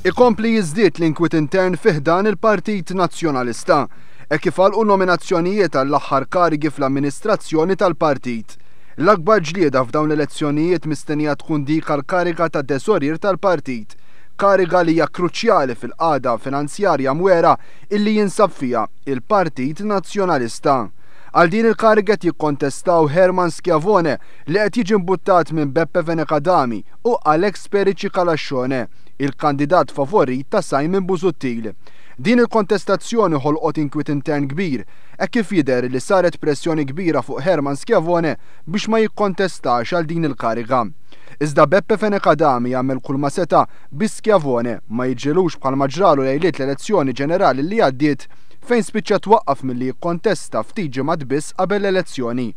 Ikompli jiżdied l-inkwiet intern fi ħdan il-Partit Nazzjonalista, hekk kif għalqu nominazzjonijiet għall-aħħar karigi fl-amministrazzjoni tal-partit. L-akbar ġlieda f'dawn l-elezzjonijiet mistennija tkun dik għall-kariga ta' teżorier tal-partit, kariga li hija kruċjali fil-qagħda finanzjarja mwera illi jinsab fiha il-Partit Nazzjonalista. Għal din il-kariga qed jikkontestaw Herman Schiavone li qed jiġi mbuttat minn Beppe Fenech Adami u Alex Perici Calascione, il-kandidat favorit ta' Simon Busuttil. Din il-kontestazzjoni ħolqot inkwiet intern kbir, hekk kif jidher li saret pressjoni kbira fuq Herman Schiavone biex ma jikkontestax għal din il-kariga. Iżda Beppe Fenech Adami għamel kull ma seta' biex Schiavone ma jiġrilux bħalma ġralu lejliet l-elezzjoni ġenerali li għaddiet fejn spiċċa twaqqaf milli jikkontesta ftit ġimgħat biss qabel l-elezzjoni.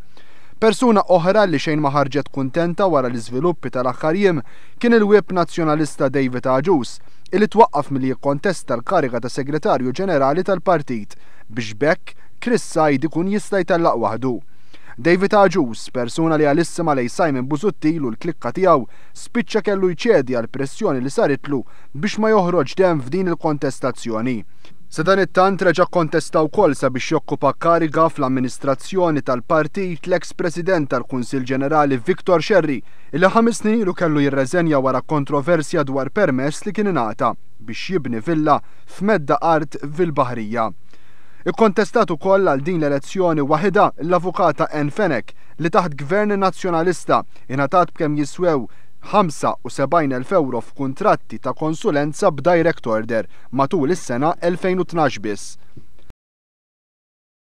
Persuna oħra li xejn ma ħarġet kuntenta wara l-iżviluppi tal-aħħar jiem kien il-Whip Nazzjonalista David Agius, illi twaqqaf milli jikkontesta l-kariga ta' Segretarju Ġenerali tal-Partit biex b'hekk Chris Said ikun jista' jtellaq waħdu. David Agius, persuna li għalissima lejn Simon Busuttil u l-klikka tiegħu, spiċċa kellu jċedi għall-pressjoni li saritlu biex ma joħroġx demm f'din il-kontestazzjoni. Sadanittant reġa' kkontesta wkoll sabiex jokkupa kariga fl-amministrazzjoni tal-partit l-eks President tal-Kunsill Ġenerali Victor Scerri illi 5 snin ilu kellu jirreżenja wara kontroversja dwar permess li kien ingħata biex jibni villa f'medda art fil-Baħrija. Ikkontestat ukoll għal din l-elezzjoni waħidha l-Avukata Ann Fenech li taħt Gvern Nazzjonalista ingħatat b'kemm jiswew 75,000 euro f'kuntratti ta' konsulenza b'direct order matul is-sena 2012 biss.